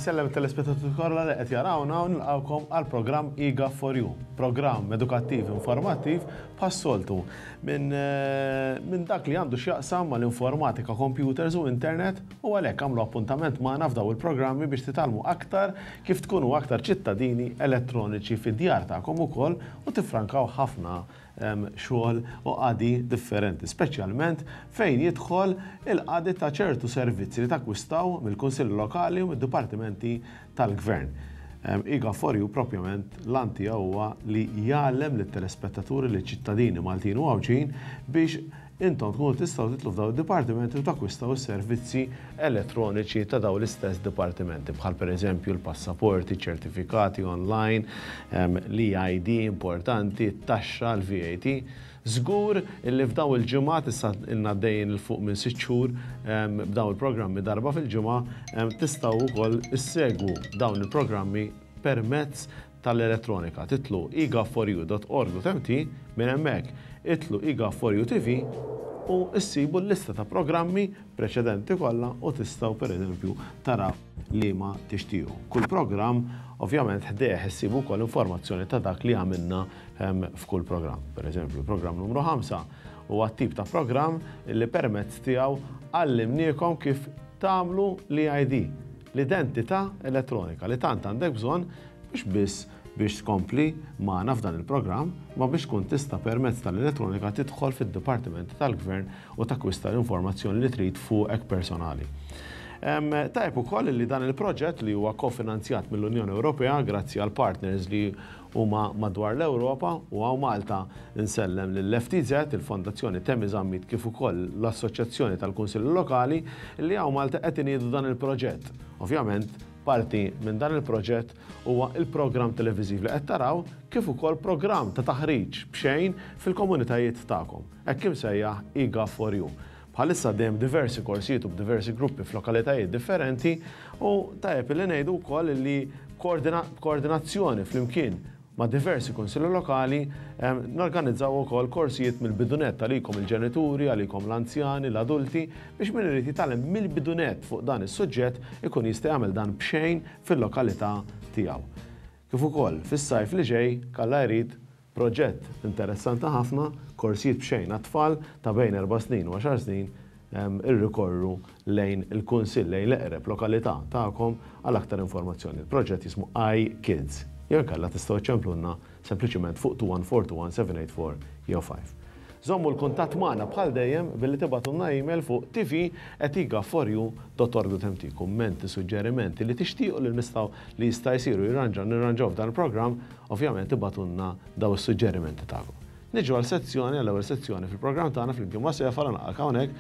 Insellem it-telespettaturi kollha li qed jarawna u nilqgħukom għal programm IGA for You, programm edukattiv informattiv bħas-soltu minn min dak li għandu x'jaqsam mal-informatika, computers u internet u għalhekk għamlu appuntament magħna f'daw il-programmi biex titgħallmu aktar kif tkunu aktar ċittadini elettroniċi fid-djar tagħkom ukoll u tiffrankaw ħafna xogħol u qadi differenti, speċjalment fejn jidħol il-qadi ta' ċertu servizzi li takkwistaw mill-Kunsilli Lokali u mid-dipartimenti tal-Gvern. IGA for You propjament l-għan tiegħu huwa li jgħallem lit-telespettaturi, liċ-ċittadini Maltin u Għawdxin biex intom tkunu tistgħu titlu f'dawn id-dipartimenti u takkwistaw is-servizzi elettroniċi ta' dawn l-istess dipartimenti, bħal pereżempju l-passaporti, ċertifikati online, l-EID importanti, it-taxxa, l-VAT. Żgur illi f'dawn il-ġimgħat, issa ilna għaddejjin 'il fuq minn 6 xhur b'dawn il-programmi darba fil-ġimgħa, tistgħu wkoll issegwu dawn il-programmi permezz tal-elettronika. Titlu egov4u.org.mt, minn hemmhekk itlu egov4u TV u issibu l-lista ta' programmi preċedenti kollha u tistgħu pereżempju taraw liema tixtiequ. Kull programm ovvjament ħdejh issibu wkoll informazzjoni ta' dak li għamilna f'kull programm. Pereżempju, programm numru 5 huwa tip ta' programm li permezz tiegħu għallimniekom kif tagħmlu l-EID, l-identità elettronika li tant għandek bżonn mhux biss biex tkompli magħna f'dan il-programm, ma biex tkun tista' permezz tal-elettronika tidħol fid-dipartimenti tal-gvern u takkwista l-informazzjoni li trid fuqek personali. Tajjeb ukoll li dan il-proġett li huwa kofinanzjat mill-Unjoni Ewropea grazzi għal partners li huma madwar l-Ewropa u hawn Malta nsellem lill-FTZ, il-Fondazzjoni Temi Zammit kif ukoll l-Assoċjazzjoni tal-Kunsilli Lokali li hawn Malta qed iniedu dan il-proġett. Ovvjament, parti minn dan il-proġett huwa il-programm televiżiv li qed taraw kif ukoll programm ta' taħriġ b'xejn fil-komunitajiet tagħkom, hekk imsejjaħ eGov4U. Bħalissa għaddejjem diversi korsijiet u b'diversi gruppi f'lokalitajiet differenti u tajjeb li ngħidu wkoll li koordinazzjoni flimkien ma' diversi kunsilli lokali norganizzaw ukoll korsijiet mill-bidunett għalikom il-ġenituri, għalikom l-anzjani, l-adulti, biex min irid jitgħallem mill-bidunett fuq dan is-suġġett ikun jista' jagħmel dan b'xejn fil-lokalità tiegħu. Kif ukoll fis-sajf li ġej, kalla jrid, proġett interessanti ħafna, korsijiet b'xejn għat-tfal ta' bejn 4 snin u 10 snin, irrikorru lejn il-kunsill, lejn l-eqreb lokalità tagħkom għal aktar informazzjoni. Il-proġett jismu iKids. Jew inkella tistgħu iċċemplulna sempliċiment fuq 214 784 jew 5. Żommu l-kuntatt magħna bħal dejjem billi tibgħatulna email fuq tv@igaf4u.org.mt. Kummenti, suġġerimenti li tixtiequ li nistgħu li jista' jsiru jirranġa nirranġaw f'dan il-programm, ovvjament ibgħatulna daw is-suġġerimenti tagħkom. Niġu għal sezzjoni, għall-ewwel sezzjoni fil-programm tagħna flimkien ma' Sefara, naqgħek hawnhekk,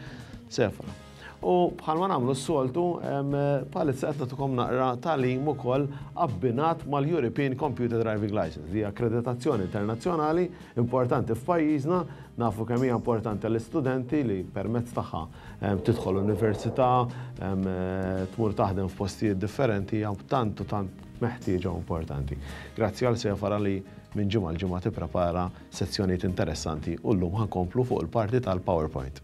Sefara. U bħalma nagħmlu s-soltu, bħalissa qed nagħtukom naqra tagħlim ukoll abbinat mal-European Computer Driving License, li hija akkreditazzjoni internazzjonali importanti f'pajjiżna, nafu kemm hija importanti għall-istudenti li permezz tagħha tidħol università, tmur taħdem f'postijiet differenti, hija tant u tant meħtieġa u importanti. Grazzi għal Sefara li minn ġimgħa l-ġimgħa tipprepara sezzjonijiet interessanti u llum ħa nkomplu fuq il-parti tal-PowerPoint.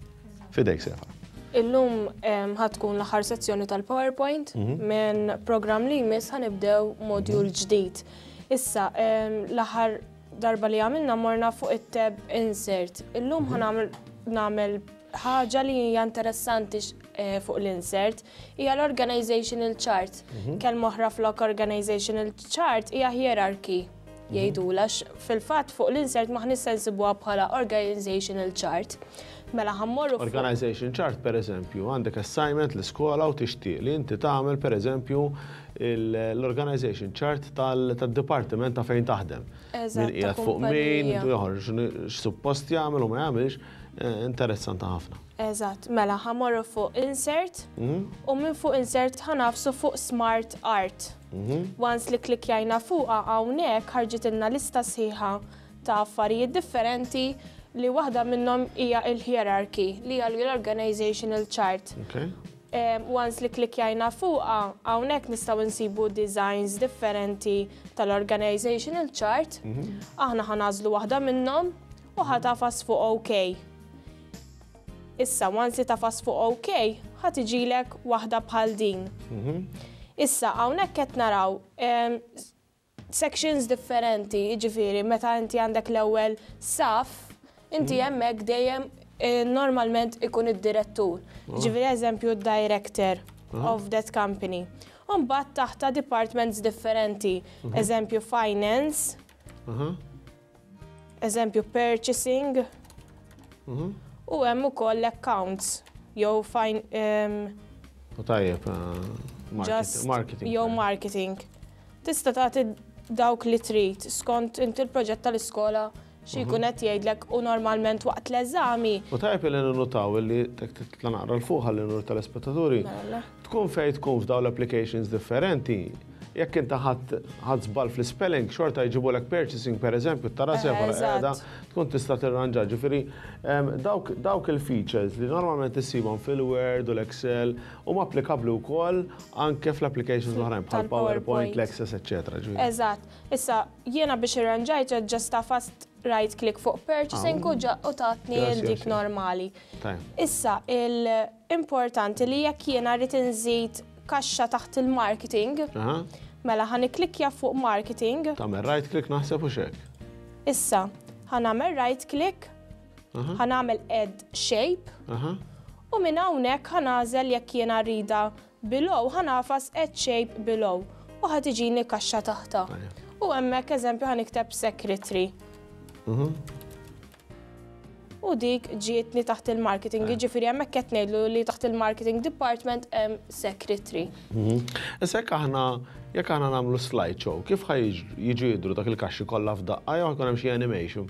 Fidejk, Sefa. Illum ħa tkun l-aħħar sezzjoni tal-PowerPoint, minn programm li jmiss ħa nibdew module ġdid. Issa, l-aħħar darba li għamilna morna fuq it-tab Insert. Illum ħa nagħmel ħaġa li hija interessanti fuq l-insert, hija l-organizational chart. Kelma oħra flok organizational chart hija hierarchy jgħidula, fil-fatt fuq l-insert ma se nsibuha bħala organizational chart. Mela ħa mmorru Organization chart, per eżempju, għandek assignment l-iskola u tixtieq li inti tagħmel, per eżempju, l-organization chart tal-dipartiment ta' fejn taħdem. Eżatt, Min qiegħed ta' fuq min, kumpanija. joħorġ x'suppost jagħmel u ma jagħmilx, interessanti ħafna. Eżatt, mela ħa mmorru fuq insert u minn fuq insert ħa nagħfsu fuq Smart Art. Once li klikjajna fuqha, hawnhekk ħarġitilna lista sħiħa ta' affarijiet differenti li waħda minnhom hija il-hierarchy, li hija l-organizational chart. Once li klikjajna fuqha, hawnhekk nistgħu nsibu designs differenti tal-organizational chart. Aħna ħa nagħżlu waħda minnhom u ħa tagħfas fuq OK. Issa, once li tagħfas fuq OK, ħa tiġilek waħda bħal din. Issa hawnhekk qed naraw sections differenti, jiġifieri meta inti għandek l-ewwel saf, inti hemmhekk dejjem normalment ikun id-direttur. Jiġifieri, eżempju, director of that company. U mbagħad taħta departments differenti, eżempju finance, eżempju purchasing, u hemm ukoll accounts jew U tajjeb, just marketing. Jew marketing. Tista' tagħti dawk li trid skont inti l-proġett tal-iskola xi jkun qed jgħidlek u normalment waqt l-eżami. U tajjeb li ninnotaw li titla' naqra 'l fuq ħalli nur telespettaturi. Mela. Tkun fejn tkun f'daw l-applications differenti, jekk inti ħadt żball fl-spelling, xorta jġibulek purchasing, per eżempju, tara sefa qiegħda tkun tista' tirranġa. Ġifieri dawk il-features li normalment issibhom fil-Word u l-Excel huma applikabbli wkoll anke fl-applications l-oħrajn bħal PowerPoint, l-Access, eċċetera. Eżatt. Issa jiena biex irranġajt just għafast right click fuq purchasing u tatni dik normali. Issa il-importanti li jekk jiena rrid inżid kaxxa taħt il-marketing, mela ħa nikklikkja fuq marketing. Tagħmel right click, naħseb, u xek. Issa, ħa nagħmel right click, ħa nagħmel add shape, u minn hawnhekk ħa nagħżel jekk jiena rridha below, ħa nagħfas add shape below u ħa tiġini kaxxa taħta. U hemmhekk, eżempju, ħa nikteb secretary. U dik ġietni taħt il-marketing, ġifieri hemmhekk qed ngħidlu li taħt il-marketing department hemm secretary. Issa jekk aħna nagħmlu slideshow, kif ħa jiġu jidru dak il-kaxxi kollha f'daqqa jew jkun hemm xi animation?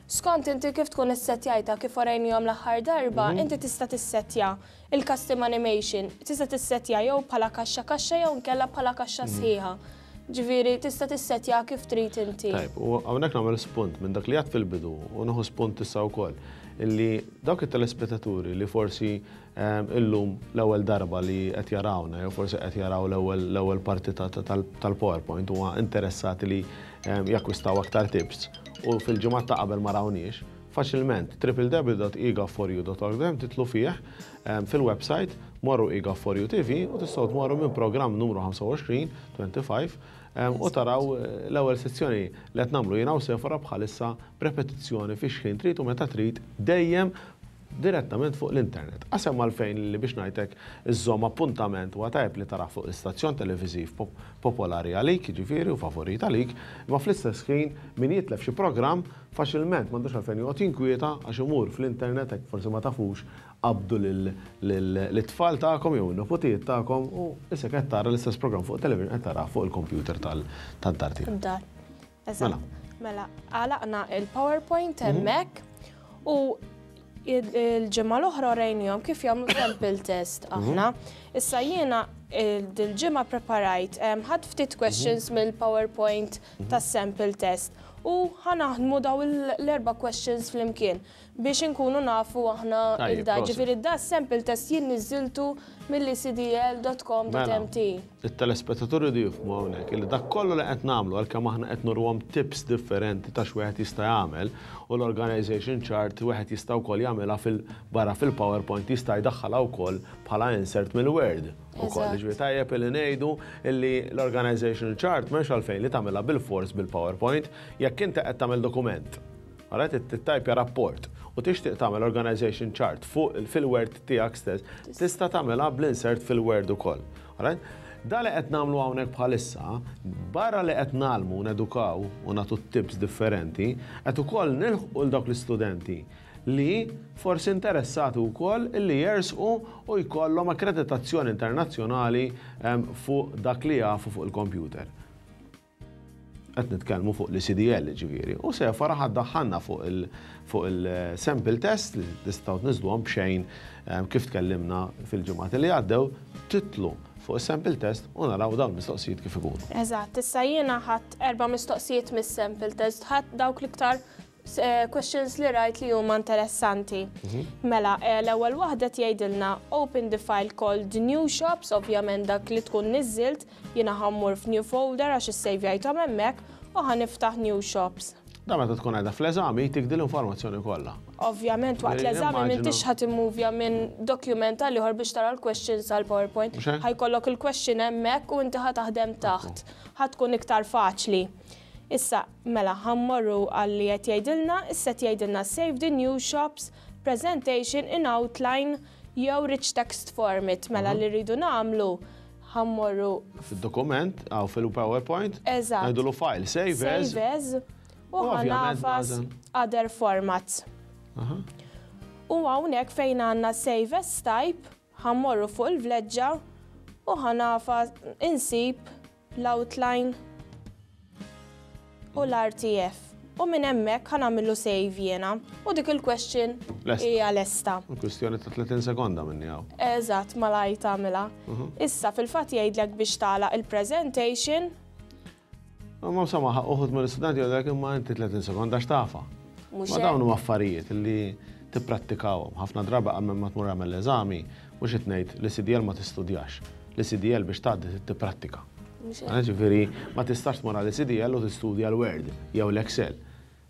Skont inti kif tkun issettjajta, kif urejnihom l-aħħar darba, inti tista' tissettja il-custom animation, tista' tissettja jew bħala kaxxa kaxxa jew nkella bħala kaxxa sħiħa. Ġifieri tista' tissettja kif trid inti. Tajb, u hawnhekk nagħmel spunt minn dak li għedt fil-bidu u nieħu spunt issa wkoll illi dawk it-telespettaturi li forsi illum l-ewwel darba li qed jarawna jew forsi qed jaraw l-ewwel parti tal-PowerPoint huwa interessati li jakkwistaw aktar tips u fil-ġimgħat ta' qabel ma rawniex, faċilment www.ega4u.org titilgħu fih fil-website, morru eGov4U TV u tistgħu tmorru minn programm numru 25, 25 u taraw l-ewwel sezzjoni li qed nagħmlu jiena u Sefora bħalissa b'repetizzjoni fi xħin trid u meta trid, dejjem direttament fuq l-internet. Qasem għalfejn li biex ngħidlek iżżomm appuntament u tajjeb li tara fuq l-istazzjon televiżiv popolari għalik, ġifieri, u favorit għalik, imma fl-istess ħin min jitlef xi programm faċilment m'għandux għalfejn joqgħod jinkwieta għax imur fl-internet, hekk forsi ma tafux, qabdu l-tfal tagħkom jew in-niputijiet tagħkom u issa qed tara l-istess programm fuq television qed tara fuq il-computer tad-dar tiegħek. Dar. Eżatt. Mela, għalaqna il-PowerPoint hemmhekk u il-ġimgħa l-oħra urejnihom kif jagħmlu sample test aħna. Issa jiena il-ġimgħa preparajt, ħadt ftit questions mill-PowerPoint tas-sample test u ħa naħdmu daw l-erba' questions flimkien biex inkunu nafu aħna il-da. Ġifieri da sample test jien niżiltu mill-ecdl.com.mt. Il-telespettaturi di jifhmu hawnhekk illi dak kollu li qed nagħmlu, għalkemm aħna qed nuruhom tips differenti ta' x'wieħed jista' jagħmel u l-organization chart wieħed jista' wkoll jagħmilha fil-barra fil-PowerPoint, jista' jdaħħalha wkoll bħala insert mill-Word ukoll. Ġifieri tajjeb li ngħidu illi l-organization chart m'hemmx għalfejn li tagħmilha bil-fors bil-PowerPoint jekk inti qed tagħmel dokument. Għaret tittajpja rapport u tixtieq tagħmel organization chart fuq fil-Word tiegħek stess, tista' tagħmilha bl-insert fil-Word ukoll. Alright? Da li qed nagħmlu hawnhekk bħalissa, barra li qed nagħmlu nedukaw u nagħtu tips differenti, qed ukoll nilħqu l dawk l-istudenti li forsi interessati wkoll li jersqu u jkollhom akkreditazzjoni internazzjonali fuq dak li jafu fuq il-computer. Qed nitkellmu fuq l-CDL, ġifieri. U Sefora ħa ddaħħalna fuq il-sample test li tistgħu tniżluhom b'xejn, kif tkellimna fil-ġimgħat li għaddew, titilgħu fuq il-sample test u naraw dawn mistoqsijiet kif ikunu. Eżatt, issa jiena ħadt erba' mistoqsijiet mis-sample test, ħadt dawk l-iktar questions li rajt li huma interessanti. Mela, l-ewwel waħda tgħidilna "Open the file called new shops", ovvjament dak li tkun niżilt, jiena ħa mmur f'new folder għax issejvjajthom hemmhekk u ħa niftaħ new shops. Da meta tkun qiegħda fl-eżami jtik din l-informazzjoni kollha. Ovvjament waqt l-eżami m'intix ħa timmuvja minn dokument għal ieħor biex tara l-questions għal PowerPoint. Ħa jkollok il-question hemmhekk u inti ħa taħdem taħt. Ħa tkun iktar faċli. Issa, mela, ħa mmorru għal li qed jgħidilna, issa qed jgħidilna save the new shops presentation in outline jew rich text format. Mela li rridu nagħmlu ħa mmorru. Fid-dokument, għaw fil-PowerPoint. Eżatt. Ngħidulu file, save as. Save as. U ħa nagħfas other formats. U hawnhekk fejn għandna save as type, ħa mmorru fuq il-vleġġa u ħa nagħfas insib l-outline u l-RTF. U minn hemmhekk ħa nagħmillu save jiena. U dik il-question hija lesta. Kwestjoni ta' 30 sekonda minni hawn. Eżatt, malajr tagħmilha. Issa fil-fatt jgħidlek biex tagħlaq il-presentation. Ma insomma, uħud mill-istudenti jgħidlek imma inti 30 sekonda x'tafa. Ma dawn huma affarijiet li tipprattikawhom. Ħafna drabi qabel ma tmur għamel l-eżami, mhux qed ngħid li CDL ma tistudjax. Li CDL biex tgħaddi tipprattika. Ġifieri ma tistax tmur għal CDL u tistudja l-Word jew l-Excel.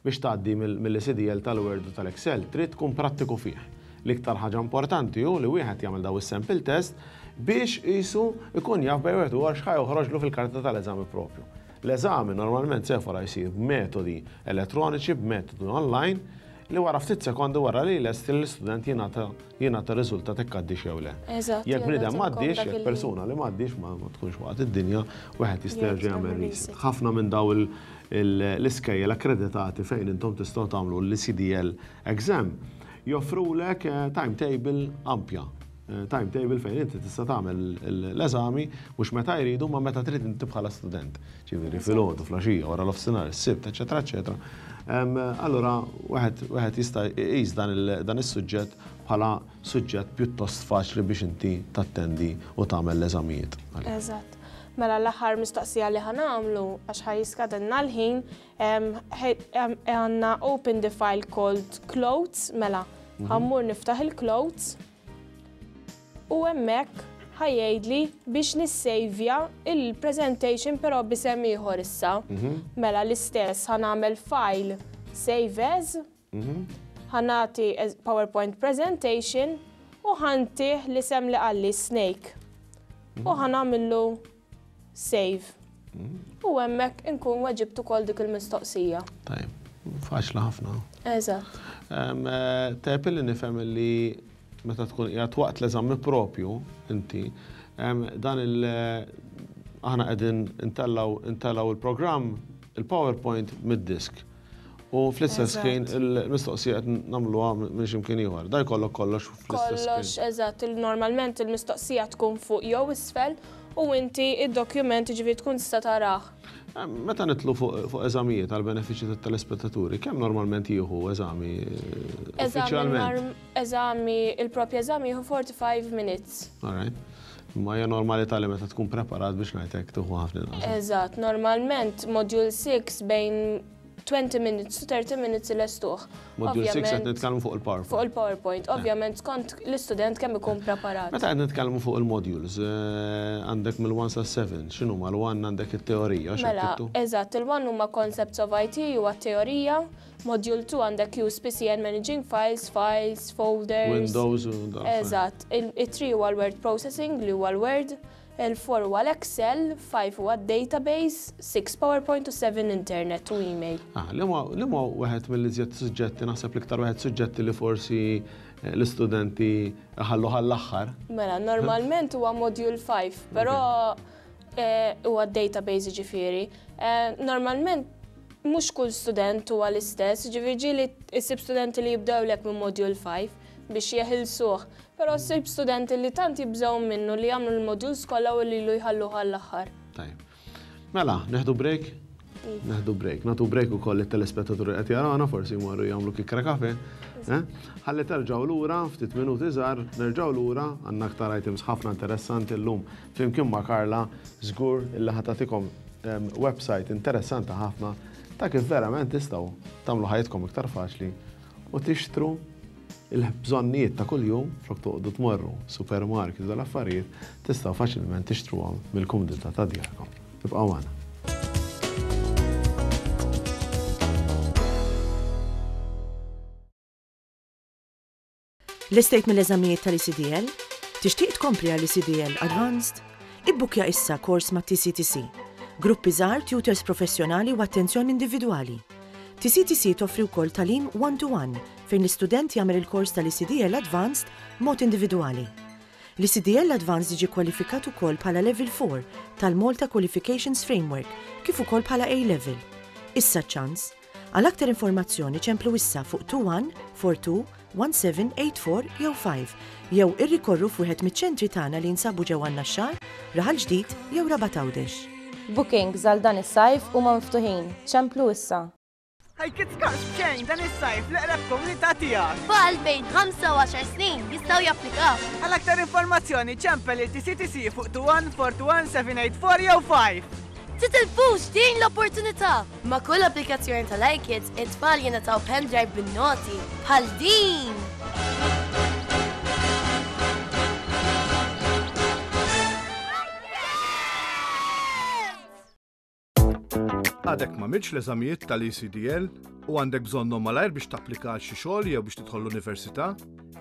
Biex tgħaddi mill-CDL tal-Word u tal-Excel trid tkun prattiku fih. L-iktar ħaġa importanti hu li wieħed jagħmel daw is-sample test biex qisu ikun jaf bejn wieħed u ieħor x'ħa joħroġlu fil-karta tal-eżami propju. L-eżami normalment sefora jsir b'metodi elettroniċi, b'metodi online, li wara ftit sekondi wara li lest l-istudent jingħata jingħata riżultat jekk għaddix jew le. Eżatt. Jekk bniedem m'għaddix, jekk persuna li m'għaddix ma tkunx waqgħet id-dinja, wieħed jista' jerġa' jagħmel reset. Ħafna minn daw l-iskejjel akkreditati fejn intom tistgħu tagħmlu l-CDL exam joffrulek timetable ampja. Timetable fejn inti tista' tagħmel l-eżami mhux meta jridu ma meta trid inti bħala student. Ġifieri filgħodu, filgħaxija, wara l-ofsinhar, is-Sibt, eċetera, eċetera. Allura wieħed jista' jqis dan is-suġġett bħala suġġett pjuttost faċli biex inti tattendi u tagħmel l-eżamijiet. Eżatt. Mela l-aħħar mistoqsija li ħa nagħmlu għax ħa jiskadilna l-ħin għandna open the file called clothes, mela ħa mmur niftaħ il-clothes u hemmhekk ħa jgħidli biex nissejvja il-presentation però b'isem ieħor issa. Mela l-istess ħa nagħmel file save as, ħa nagħti PowerPoint presentation u ħa ntih l-isem li qalli snake. U ħa nagħmillu save. U hemmhekk inkun weġibt ukoll dik il-mistoqsija. Tajjeb, faċli ħafna. Eżatt. Tajjeb li nifhem li meta tkun qiegħed waqt l-eżami propju inti, dan il aħna qegħdin intellaw il-programm, il-PowerPoint mid-disk. U fl-istess ħin il-mistoqsija qed nagħmluha minn x'imkien ieħor. Da jkollok kollox fl-istess ħin. Kollox, eżatt. Normalment il-mistoqsija tkun fuq jew isfel u inti id-dokument ġifieri tkun tista' tarah. Meta nitlu fuq eżamijiet għal benefiċċju tat-telespettaturi, kemm normalment jieħu eżami uffiċjalment? Eżami, il-propju eżami jieħu 45 minutes. All right. Ma hija normalità li meta tkun preparat biex ngħidlek tieħu ħafna inqas. Eżatt, normalment module 6 bejn 20 minutes to 30 minutes il-estuħ. Module 6 qed nitkellmu fuq il-PowerPoint. Fuq il-PowerPoint, ovvjament skont l-istudent kemm ikun preparat. Meta qed nitkellmu fuq il-modules, għandek mill-1 sa 7, x'inhu mal-1 għandek it-teorija, Mela, eżatt, il-1 huma concepts of IT huwa teorija, module 2 għandek use PC and managing files, files, folders. Windows u da. Eżatt, il-3 huwa l-word processing li huwa l-Word, il-4 huwa l-Excel, 5 huwa database, 6 PowerPoint u 7 internet u email. Ah, li ma wieħed mill-iżjed suġġetti, naħseb l-iktar wieħed suġġetti li forsi l-istudenti ħallu għall-aħħar. Mela, normalment huwa module 5, però huwa database ġifieri. Normalment mhux kull student huwa l-istess, ġifieri ġieli issib studenti li jibdew lek minn module 5 biex jeħilsuh. Però ssib studenti li tant jibżgħu minnu li jagħmlu l-modules kollha u li lu jħalluh għall-aħħar. Tajjeb. Mela, neħdu break? Iva. Neħdu break. Nagħtu break ukoll it-telespettaturi qed jarawna, forsi jmorru jagħmlu kikra kafe. Ħalli terġgħu lura, ftit minuti żgħar, nerġgħu lura, għandna aktar items ħafna interessanti llum flimkien ma' Carla, żgur illi ħa tagħtikom website interessanti ħafna ta' kif verament tistgħu tagħmlu ħajjitkom iktar faċli u tixtru il-bżonnijiet ta' kuljum flok toqgħodu tmorru supermarket u dal-affarijiet tistgħu faċilment tixtruhom mill-kumdità ta' djarkom. Ibqgħu magħna. Lestejt mill-eżamijiet tal-ECDL? Tixtieq tkompli għall-ECDL Advanced? Ibbukkja issa kors ma' TCTC. Gruppi żgħar, tutors professjonali u attenzjoni individwali. TCTC toffri wkoll tagħlim one-to-one fejn l-istudent jagħmel il-kors tal-ECDL Advanced b'mod individwali. L-ECDL Advanced jiġi kwalifikat ukoll bħala Level 4 tal-Malta Qualifications Framework kif ukoll bħala A Level. Issa ċ-ċans! Għal aktar informazzjoni ċemplu issa fuq 21 42 17 84 jew 5 jew irrikorru f'wieħed miċ-ċentri tagħna li jinsabu ġewwa n-Naxxar, Raħal Ġdid jew Rabat Għawdex. Bookings għal dan is-sajf huma miftuħin. Ċemplu issa. Hi Kids Cars b'xejn dan is-sajf l-eqreb komunità tiegħek. Tfal bejn 5 u 10 snin jistgħu japplikaw. Għal aktar informazzjoni ċempel lil TCTC fuq 21 421 784 jew 5. Titilfux din l-opportunità! Ma' kull applikazzjoni tal-iKids, it-tfal jingħataw pendrive bin-noti bħal din! Għadek ma għamiltx l-eżamijiet tal-ECDL u għandek bżonnhom malajr biex tapplika għal xi xogħol jew biex tidħol l-università?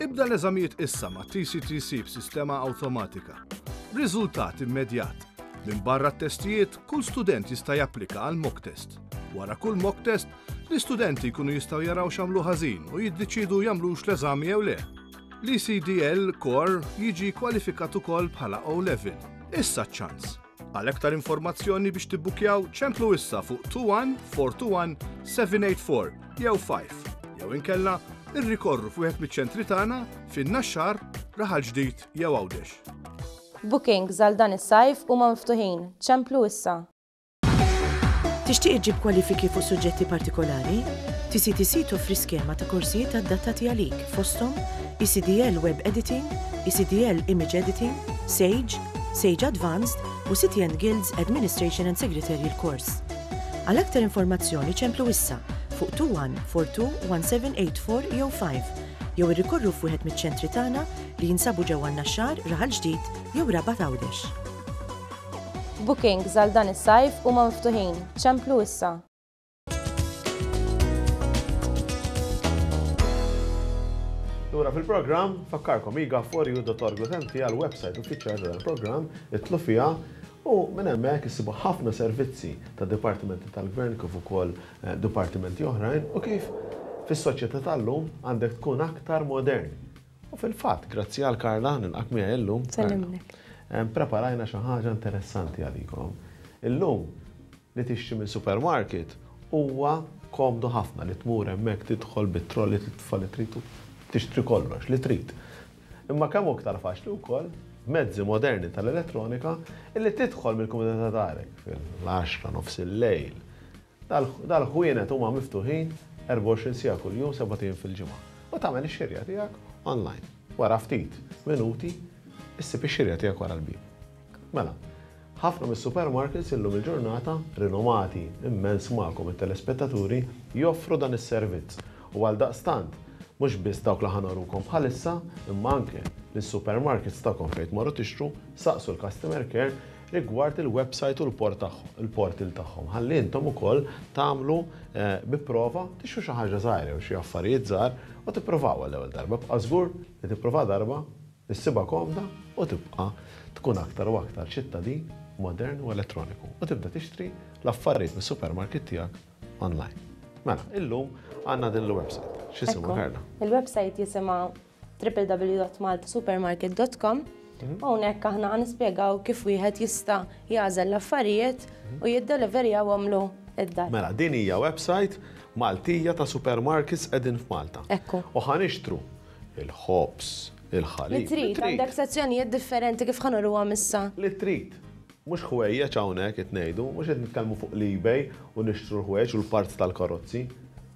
Ibda l-eżamijiet issa ma' TCTC b'sistema awtomatika. Riżultat immedjat. Minbarra t-testijiet, kull student jista' japplika għal mock test. Wara kull mock test, l-istudenti jkunu jistgħu jaraw x'għamlu ħażin u jiddeċiedu jagħmlux l-eżami jew le. L-ECDL Core jiġi kwalifikat ukoll bħala O-Level. Issa ċ-ċans! Għal aktar informazzjoni biex tibbukjaw ċemplu issa fuq 21 421 784 jew 5 jew inkella irrikorru f'wieħed miċ-ċentri tagħna fin-Naxxar, Raħal Ġdid jew Għawdex. Bookings għal dan is-sajf huma miftuħin. Ċemplu issa. Tixtieq iġġib kwalifiki fuq suġġetti partikolari? TCTC toffri skema ta' korsijiet adattati għalik fosthom ECDL Web Editing, ECDL Image Editing, Sage, Sage Advanced u City and Guilds Administration and Secretarial Course. Għal aktar informazzjoni ċemplu issa fuq 21 42 1784 jew 5 jew irrikorru f'wieħed miċ-ċentri tagħna li jinsabu ġewwa n-Naxxar, Raħal Ġdid jew Rabat Għawdex. Bookings għal dan is-sajf huma miftuħin. Ċemplu issa. Lura fil-programm, fakkarkom iga4u.org.mt għal website uffiċjali tal-programm, itlu fiha u minn hemmhekk issibu ħafna servizzi ta' dipartimenti tal-gvern kif ukoll eh, dipartimenti oħrajn u kif fis-soċjetà tal-lum għandek tkun aktar modern. U fil-fatt, grazzi għal Karla, nilqak miegħi illum. Sellimlek. Preparajna xi ħaġa interessanti għalikom. Illum li tixtri minn supermarket huwa komdu ħafna li tmur hemmhekk tidħol bit-trolli titfa' li trid u tixtri kollox li trid. Imma kemm hu iktar faċli wkoll b'mezzi moderni tal-elettronika illi tidħol mill-kumdità ta' darek fil-għaxra nofs il-lejl Dal-ħwienet huma miftuħin 24 siegħa kuljum sebat ijiem fil-ġimgħa u tagħmel ix-xirja tiegħek online. Wara ftit minuti issib ix-xirja tiegħek wara l-bieb. Mela, ħafna mis-supermarkets illum il-ġurnata, rinomati immens magħkom it-telespettaturi, joffru dan is-servizz u għaldaqstant mhux biss dawk li ħa norukom bħalissa imma anke lis-supermarkets tagħkom fejn tmorru tixtru, saqsu l-customer care rigward il-website u l-portal tagħhom ħalli intom ukoll tagħmlu eh, bi prova tixtru xi ħaġa żgħira jew xi affarijiet żgħar u tippruvaw għall-ewwel darba. Bqa' żgur li tipprova darba, issibha komda u tibqa' tkun aktar u aktar ċittadin modern u elettroniku u tibda tixtri l-affarijiet mis-supermarket tiegħek online. Mela, illum għandna din il-website. X'jisimha Karla? Il-website jisimha www.maltasupermarket.com mhm. u hawnhekk aħna ħa nispjegaw kif wieħed jista' jagħżel l-affarijiet mhm. u jiddeliverjawhomlu id-dar. Mela, din hija website Maltija ta' supermarkets qegħdin f'Malta. Ekku. U ħa nixtru il-ħobż, il-ħalib. Li trid, għandek sezzjonijiet differenti kif ħa nuruhom issa. Li trid. Mhux ħwejjeġ hawnhekk qed ngħidu, mhux qed nitkellmu fuq l-eBay u nixtru l-ħwejjeġ u l-parts tal-karozzi.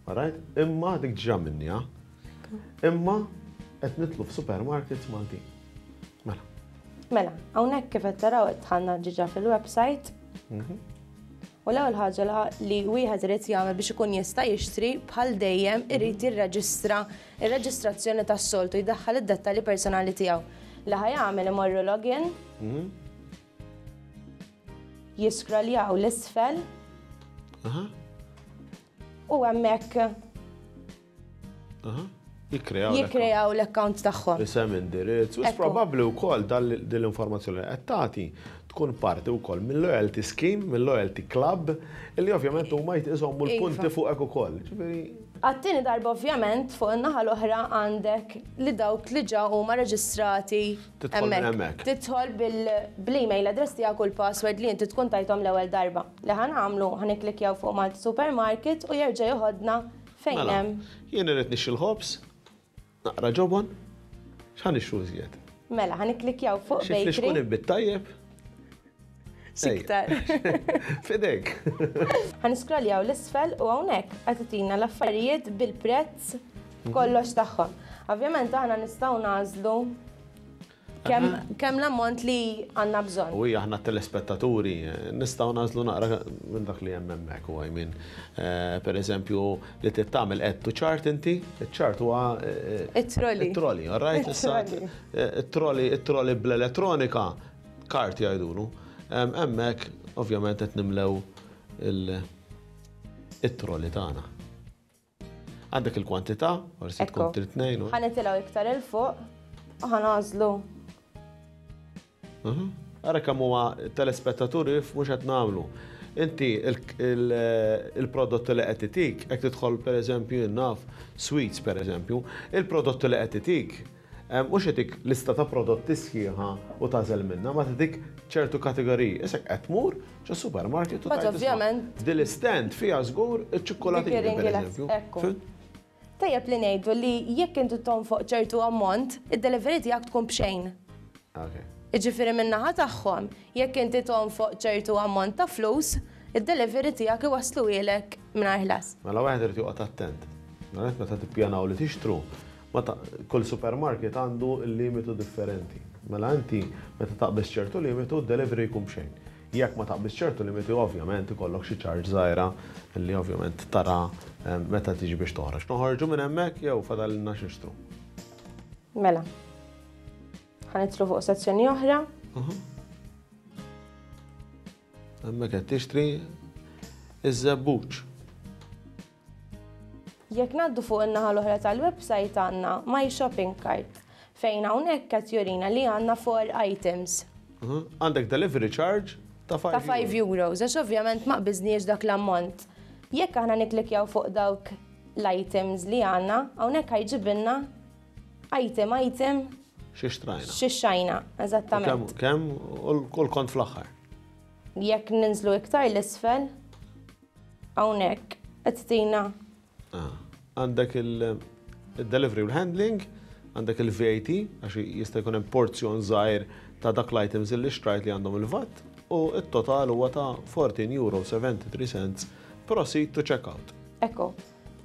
Alright? Imma dik ġa minniha. Imma qed nitlu f'supermarkets Maltin. Mela. Mela, hawnhekk kif qed taraw qed dħalna ġiġa fil-website. Mhm. U l-ewwel ħaġa li wieħed irid jagħmel biex ikun jista' jixtri bħal dejjem irid mhm. jirreġistra ir-reġistrazzjoni tas-soltu jdaħħal id-dettalji personali tiegħu. Li ħa jagħmel imorru login. Mhm. Jiskroljaw l-isfel. U hemmhekk. Jikkreaw jikkreaw l-account tagħhom. Isem, indirizz, u probabbli wkoll din l-informazzjoni li qed tagħti tkun parti wkoll mill-loyalty scheme, mill-loyalty club, illi ovvjament huma jżommu l-punti Iva. fuqek ukoll. Ġifieri Għat-tieni darba ovvjament fuq in-naħa l-oħra għandek li dawk li ġa huma reġistrati Tidħol minn hemmhekk. Tidħol bil-email address tiegħek u l-password li inti tkun tajthom l-ewwel darba. Li ħa nagħmlu ħa nikklikkjaw fuq Malta Supermarket u jerġa' joħodna fejn Mela, hemm. jien irid nixtri l-ħobż, naqra ġobon, x'ħa nixtru iżjed? Mela, ħa nikklikkjaw fuq Xi flixkun bakery. inbid tajjeb? X'iktar. F'idejk. Ħa niscrolljaw 'l isfel u hawnhekk qed itina l-affarijiet bil-prezz kollox tagħhom. Ovvjament aħna nistgħu nagħżlu kemm l-ammont li għandna bżonn. U hija aħna telespettaturi nistgħu nagħżlu naqra minn dak li hemm hemmhekk u I mean, per eżempju li trid tagħmel add to cart inti, iċ-cart huwa It-trolley. It-trolley, all right? Issa it-trolley, it-trolley bl-elettronika, cart jgħidulu. Hemmhekk ovvjament qed nimlew il-trolley tagħna. Għandek il-kwantità, forsi tkun trid tnejn. Ħa nitilgħu iktar 'il fuq u ħa nagħżlu. Ara kemm huma telespettaturi mhux qed nagħmlu. Inti il-prodott li qed itik, jekk tidħol pereżempju naf sweets pereżempju, il-prodott li qed itik mhux itik lista ta' prodotti sħiħa u tagħżel minnha, ma titik ċertu kategoriji. Issa qed tmur ġo supermarket u But ovvjament Dil stand fiha żgur iċ-ċikkolatini pereżempju. Ekku. Tajjeb li ngħidu li jekk inti tonfoq ċertu ammont, id-delivery tiegħek tkun b'xejn. Jiġifieri min-naħa tagħhom, jekk inti tonfoq ċertu ammont ta' flus, id-delivery tiegħek iwasluhielek mingħajr ħlas. Mela wieħed irid joqgħod attent. Mela meta tippjanaw li tixtru, kull supermarket għandu l-limitu differenti. Mela inti meta taqbeż ċertu limitu, d-delivery jkun b'xejn. Jekk ma taqbeż ċertu limitu, ovvjament ikollok xi charge żgħira li ovvjament tara meta tiġi biex toħroġ. Noħorġu minn hemmhekk jew fadalilna x'nixtru. Mela. Ħa nidħlu fuq sezzjoni oħra. Hemmhekk qed tixtri iż-żebbuġ. Jekk ngħaddu fuq in-naħa l-oħra tal-website għandna My Shopping Cart fejn hawnhekk qed jurina li għandna 4 items. Għandek delivery charge ta' 5 Ta' 5 euros, għax ovvjament ma qbiżniex dak l-ammont. Jekk aħna nikklikjaw fuq dawk l-items li għandna, hawnhekk ħa jġibilna item item Xi xtrajna. Xi xtrajna, eżattament. Kemm u l-kont fl-aħħar. Jekk ninżlu iktar 'l isfel, hawnhekk qed tina Għandek il-delivery u l-handling, għandek il-VAT, għax jista' jkun hemm porzjon żgħir ta' dak l-items li xtrajt li għandhom il-VAT, u it-total huwa ta' 14 euro 73 cents proceed to checkout. Ekku,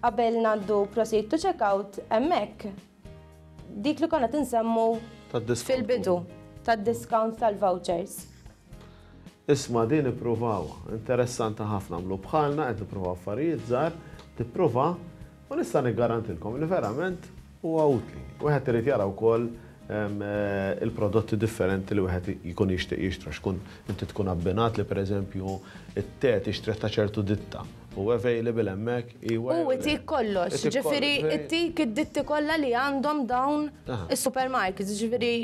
qabel ngħaddu proceed to checkout, hemmhekk dik li konna tinsemmu fil-bidu tad-discount tal-vouchers. Isma' din ippruvaw, interessanti ħafna għamlu bħalna qed nippruvaw affarijiet żgħar, tipprova u nista' niggarantilkom li verament huwa utli. Wieħed irid jara wkoll il-prodotti differenti li wieħed jkun jixtieq jixtra, xkun inti tkun abbinat li pereżempju it-te tixtrih ta' ċertu ditta u available hemmhekk iwa. U itik kollox, ġifieri itik id-ditti kollha li għandhom dawn is-supermarkets, ġifieri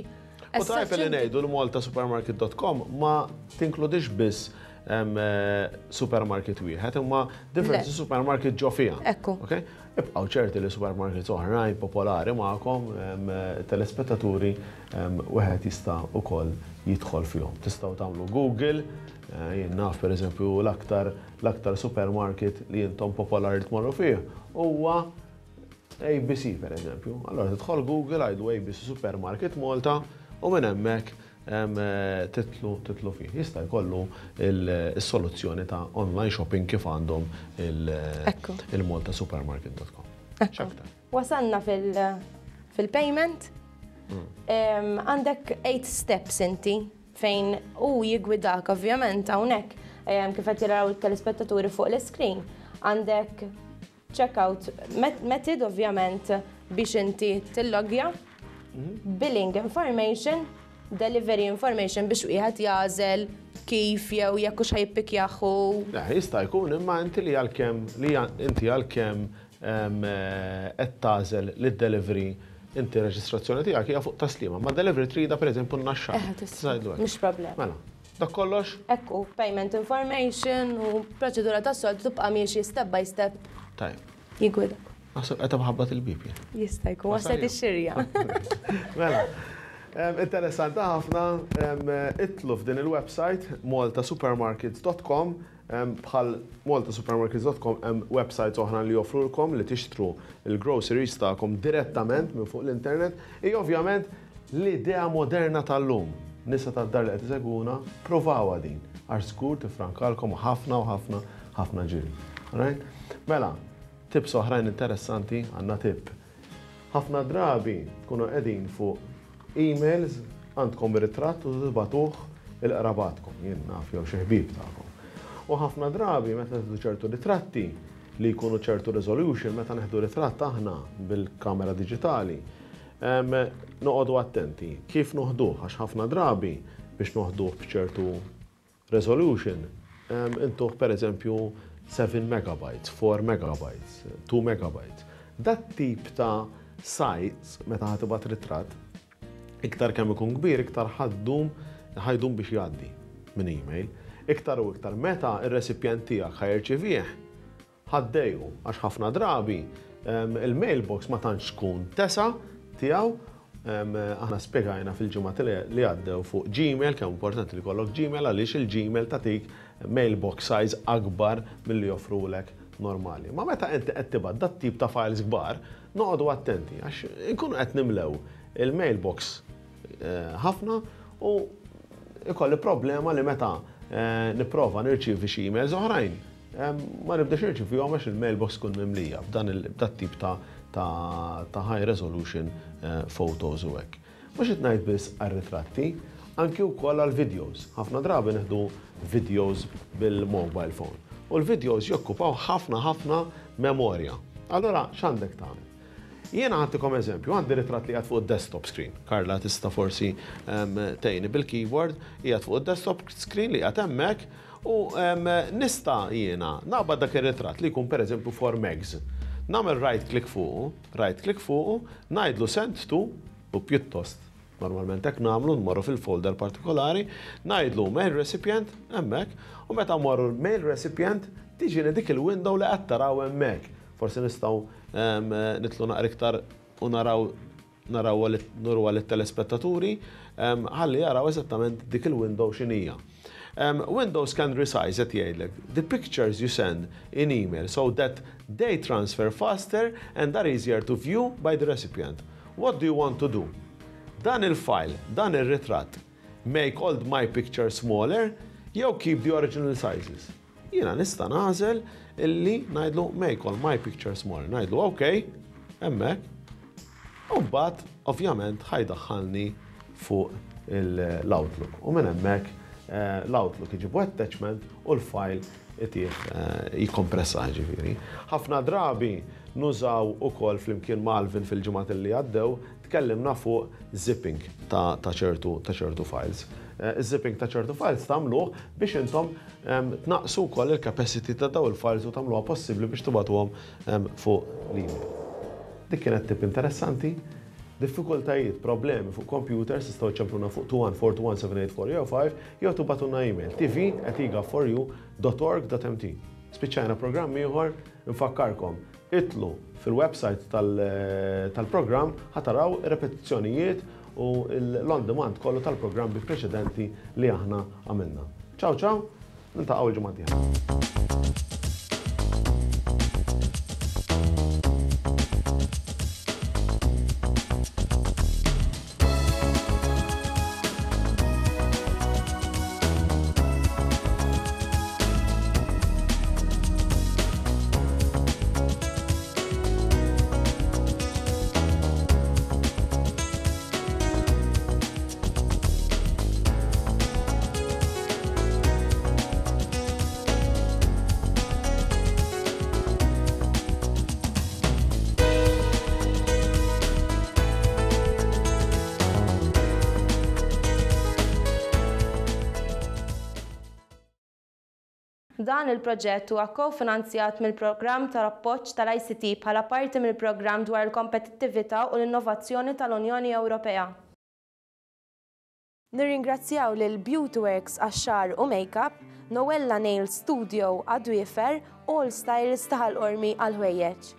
U tajjeb li ngħidu l-maltasupermarket.com ma tinkludix biss supermarket wieħed, imma diversi supermarket ġo fiha. Ekku. Ibqgħu ċerti li supermarkets oħrajn popolari magħkom telespettaturi wieħed jista' ukoll jidħol fihom. Tistgħu tagħmlu Google, jien naf pereżempju l-aktar l-aktar supermarket li intom popolari tmorru fih huwa ABC per eżempju. Allora tidħol Google għidu ABC Supermarket Malta u minn hemmhekk titlu titlu fih. Jista' jkollu il-soluzzjoni ta' online shopping kif għandhom il-maltasupermarket.com. X'aktar? Wasalna fil-payment. Għandek 8 steps inti fejn u jigwidak ovvjament hawnhekk kif qed jaraw it-telespettaturi fuq l-screen. Għandek checkout method ovvjament biex inti tillogja, billing information, delivery information biex wieħed jagħżel kif jew jekk hux ħa jippikjah. Le, jista' jkun imma inti li għalkemm li inti għalkemm qed tagħżel li d-delivery inti reġistrazzjoni tiegħek hija fuq Tas-Sliema, ma delivery trida pereżempju n-Naxxar. Mhux problema. Mela, dak kollox? Ekku, payment information u proċedura tas-soltu tibqa' miexi step by step. Tajjeb. Jigwidak. Naħseb qed ħabbat il-bib jien. Jista' jkun waslet ix-xirja. Mela, interessanti ħafna, idħlu f'din il-website maltasupermarkets.com. Bħal maltasupermarkets.com hemm websites oħra li joffrulkom li tixtru il-groceries tagħkom direttament minn fuq l-internet. Hija ovvjament l-idea moderna tal-lum. Nisa tad-dar li qed isegwuna, provawha din għax żgur tifrankalkom ħafna u ħafna ħafna ġiri. Alright? Mela, tips oħrajn interessanti, għandna tip. Ħafna drabi tkunu qegħdin fuq emails, għandkom ritratt u tibagħtuh il-qrabatkom, jien naf jew xi ħbieb tagħkom. U ħafna drabi meta nieħdu ċertu ritratti li jkunu ċertu resolution, meta nieħdu ritratt aħna bil-kamera diġitali, noqogħdu attenti kif noħduh, għax ħafna drabi biex noħduh b'ċertu resolution, intuh per eżempju 7 megabytes, 4 megabytes, 2 megabytes. Dat tip ta' size meta ħa tibgħat ritratt, iktar kemm ikun kbir, iktar ħajdum biex jgħaddi minn email. Iktar u iktar meta ir-recipient tiegħek ħa jirċivih, ħaddejju, għax ħafna drabi il-mailbox ma tantx tkun tesa tiegħu. Aħna spjegajna fil-ġimgħat li għaddew fuq Gmail, kemm importanti li kollok Gmail, għaliex il-Gmail tatik mailbox size akbar milli joffrulek normali. Ma meta inti qed tibgħat dat tip ta' files kbar, noqogħdu attenti għax inkunu qed nimlew il-mailbox ħafna u ikolli problema li meta nipprova nirċievi xi emails oħrajn, ma nibdax nirċivihom għax il-mailbox tkun mimlija b'dat tip ta' high resolution photos u hekk. Mhux qed ngħid biss għar-ritratti, anki wkoll għall-videos. Ħafna drabi nieħdu videos bil-mobile phone. U l-videos jokkupaw ħafna ħafna memorja. Allora x'għandek tagħmel? Jiena ħadtikom eżempju, għandi ritratt li qiegħed fuq desktop screen. Karla tista' forsi tgħinni bil-keyboard, qiegħed fuq desktop screen li qiegħed hemmhekk u nista' jiena naqbad dak ir-ritratt li jkun pereżempju 4 megs. Nagħmel right click fuqu, right click fuqu, ngħidlu send to, u pjuttost normalment hekk nagħmlu, nmorru fil-folder partikolari, ngħidlu mail recipient hemmhekk, u meta mmorru mail recipient tiġini dik il-window li qed taraw hemmhekk. Forsi nistgħu nitlu naqra iktar u naraw nuruha lit-telespettaturi, ħalli jaraw eżattament dik il-window x'inhija. Windows can resize, qed jgħidlek, the pictures you send in email so that they transfer faster and are easier to view by the recipient. What do you want to do? Dan il-file, dan il-ritratt, make all my pictures smaller, jew keep the original sizes. Jiena nista' nagħżel illi ngħidlu make all my pictures smaller. Ngħidlu ok, hemmhekk. U mbagħad ovvjament ħa jdaħħalni fuq l-Outlook. U minn hemmhekk l-Outlook iġibu attachment u l-file itih jikkompressa ġifieri. Ħafna drabi nużaw ukoll flimkien ma' Alvin fil-ġimgħat li għaddew, tkellimna fuq zipping ta' ċertu files. Zipping ta' ċertu files tagħmluh biex intom tnaqsu wkoll il-capacity ta' daw il-files u tagħmluha possibbli biex tibgħatuhom fuq l-email. Dik kienet tip interessanti. Diffikultajiet, problemi fuq computers tistgħu ċempluna fuq 21421 jew 5 jew tibgħatulna email tv@egaforyou.org.mt. Spiċċajna programm ieħor, nfakkarkom, idħlu fil-website tal-programm ħa taraw repetizzjonijiet u l-on demand kollu tal-programmi preċedenti li aħna għamilna. Ciao ciao, niltaqgħu il-ġimgħa d-dieħla. Dan il-proġett huwa ko-finanzjat mill-Programm ta' Appoġġ tal-ICT bħala parti mill-Programm dwar il-Kompetittività u l-Innovazzjoni tal-Unjoni Ewropea. Nirringrazzjaw lil Beauty Works għax-xagħar u makeup, Noella Nail Studio għad-dwiefer, All Styles ta' Ħal Qormi għall-ħwejjeġ.